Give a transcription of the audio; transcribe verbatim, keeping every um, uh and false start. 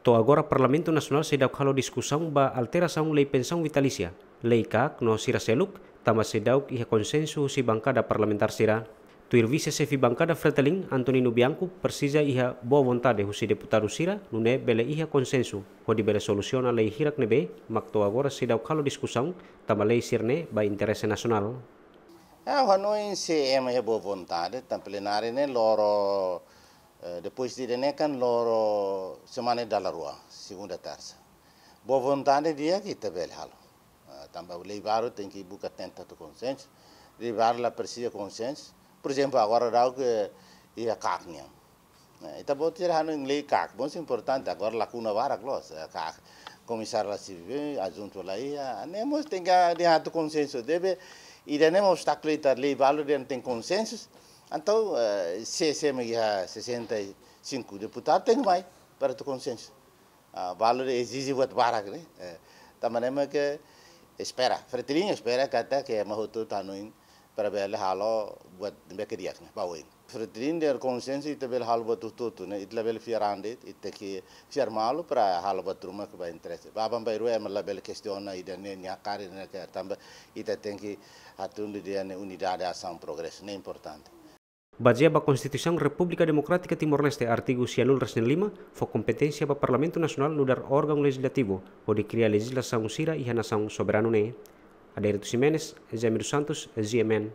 To'o agora Parlamentu Nasionál seidauk halo diskusaun ba alterasaun lei pensaun vitalísia, lei kaak no sira seluk, tanba seidauk iha konsensu husi bankada parlamentár sira. Tuir vise xefe bankada Fretilin, Antonino Bianco, presiza iha boa vontade husi deputadu sira, nune'e bele iha konsensu hodi bele solusiona lei hirak ne'ebé mak to'o agora seidauk halo diskusaun, tanba lei sira-ne'e ba interese nasionál. Ah, ha'u hanoin se ema iha boa vontade, tan plenária ne'e loro, eh, depois de ne'e kan loro semana dala rua, segunda, tersa. Boa vontade di'ak ita bele halo. Ah, tanba lei balu tenke buka tenta atu konsensu, lei balu la presiza konsensu. Por ezemplu, agora daudauk iha kaak nian. Eh, ita-boot sira hanoin lei kaak mós importante, agora lakuna barak loos, eh, kaak komisáriu la sirve, adjuntu la iha, ne'e mós tenke atu konsensu, debe, ida-ne'e mós obstákulu ita lei balu dehan tenke konsensu, entaun, eh, se, se ema iha sessenta e cinco deputadu tenke mai para atu konsensu. Ah, balu ezije buat barak ne'e. Eh, tanba ne'e mak espera, Fretilin espera katak ema hotu-hotu hanoin para bele halo buat ne'ebé ke di'ak ne'e, ba oin. Fretilin dehan konsensu ita bele halo buat hotu-hotu ne'e, ita labele fiar an de'it, ita tenke fiar malu para halo buat ruma ke ba interese. Ba aban-bainrua ema labele kestiona ida-ne'e nia kaer ne'e kaer, tanba ita tenke hatundu dehan ne'e unidade, asaun, progresu, ne'e importante. Bazeia ba Konstituisaun Repúblika Demokrátika Timor-Leste, artigu sianulu resin lima, fó kompeténsia ba Parlamentu Nasionál nu'udar órgaun lejizlativu hodi kria lejizlasaun sira iha nasaun soberanu ne'e. Adérito Ximenes, Jaime dos Santos, G M N.